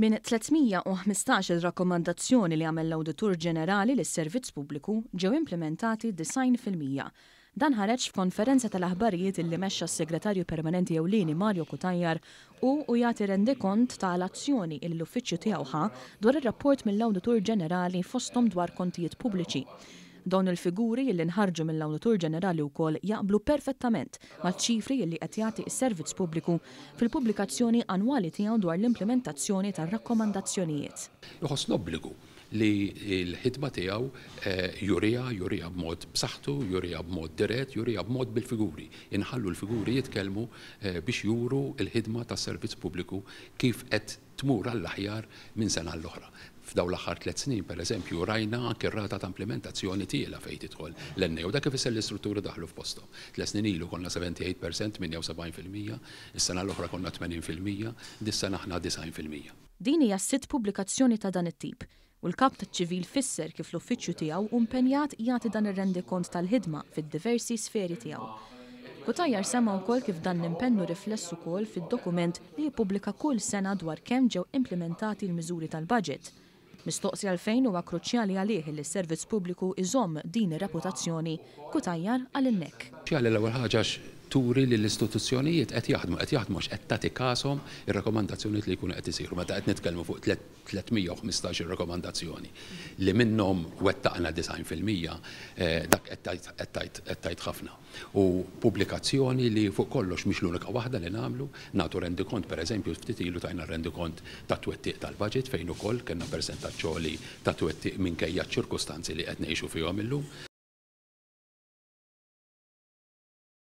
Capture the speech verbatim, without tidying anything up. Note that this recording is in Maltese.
Minn tliet mija u ħmistax-il rakkomandazzjoni li għamel l-Awditur Ġenerali lis-Servizz Pubbliku, ġew implementati disgħin fil-mija. Dan ħareġ f'konferenza tal-aħbarijiet illi mexxa s-Segretarju Permanenti Ewlieni Mario Cutajar u u jagħti rendikont tal-azzjoni illi l-uffiċċju tiegħu ħa dwar ir-rapport mill-Awditur Ġenerali, fosthom dwar kontijiet pubbliċi. Dawn il-figuri illi nħarġu mill-Awditur Ġenerali wkoll jaqblu perfettament maċ-ċifri illi qed jagħti s-Servizz Pubbliku fil-pubblikazzjoni annwali tiegħu dwar l-implementazzjoni tar-rakkomandazzjonijiet. Iħoss l-obbligu li l-ħidma tiegħu, eh, jurija, jurija b'mod b'saħħtu, jurija b'mod dirett, jurija b'mod bil-figuri. Inħallu l-figuri jitkellmu, eh, biex juru l-ħidma tas-servizz pubbliku kif qed tmur għall-aħjar minn sena l-oħra. F'dawn l-aħħar tliet snin, per eżempju, rajna anke r-rata ta' implementazzjoni tiela fejn tidħol l-N A u dak ifisser l-istrutturi daħlu f'posthom. Tliet snin ilu konna seventy-eight percent, tmienja u sebgħin fil-mija, is-sena l-oħra konna tmenin fil-mija, dis-sena aħna disgħin fil-mija. Din hija s-sitt pubblikazzjoni ta' dan it-tip u l-kap taċ-ċivil fisser kif l-uffiċċju tiegħu hu impenjat jagħti dan ir-rendikont tal-ħidma fid-diversi sferi tiegħu. Cutajar semma wkoll kif dan l-impenn hu rifless ukoll fid-dokument li jippubblika kull sena dwar kemm ġew implementati l-miżuri tal-budget. Mistoqsi għalfejn huwa kruċjali għalih li s-servizz pubbliku iżomm din ir-reputazzjoni, Cutajar qal hekk. Kruċjali l-ewwel ħaġa turi li l-istituzzjonijiet qed jaħdmu, qed jaħdmu għax qed tagħti każhom ir-rakkomandazzjonijiet li jkunu qed isiru. Meta qed nitkellmu fuq tliet mija u ħmistax ir-rakkomandazzjoni li minnhom wettaqna disgħin fil-mija, eh, dak qed tgħid, qed tgħid ħafna. U pubblikazzjoni li fuq kollox mhix l-unika waħda li nagħmlu, nagħtu rendikont, pereżempju ftit ilu tajna rendikont ta' twettiq tal-budget fejn ukoll kellna persentaġġ għoli ta' twettiq minkejja ċ-ċirkustanzi li qed ngħixu fihom illum.